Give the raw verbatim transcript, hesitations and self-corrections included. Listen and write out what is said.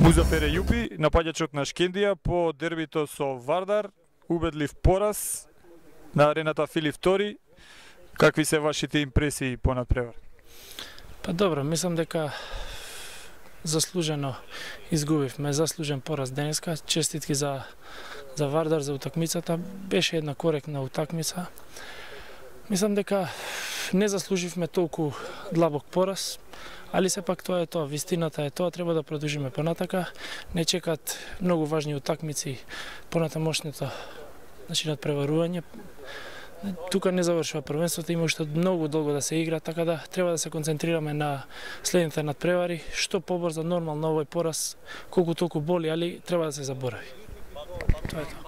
Музафер Ејупи, напаѓачот на Шкендија по дербито со Вардар, убедлив пораз на арената Филип втори. Какви се вашите импресии по надпревар? Па добро, мислам дека заслужено изгубивме, заслужен пораз денеска. Честитки за за Вардар за утакмицата. Беше една коректна утакмица. Мислам дека не заслуживме толку длабок пораз, али сепак тоа е тоа, вистината е тоа, треба да продолжиме понатака. Не чекат многу важни утакмици понатамошното, значи надпреварување. Тука не завршува првенството, има уште многу долго да се игра, така да треба да се концентрираме на следните надпревари, што побрзо нормално овој пораз, колку толку боли, али треба да се заборави. Тоа е тоа.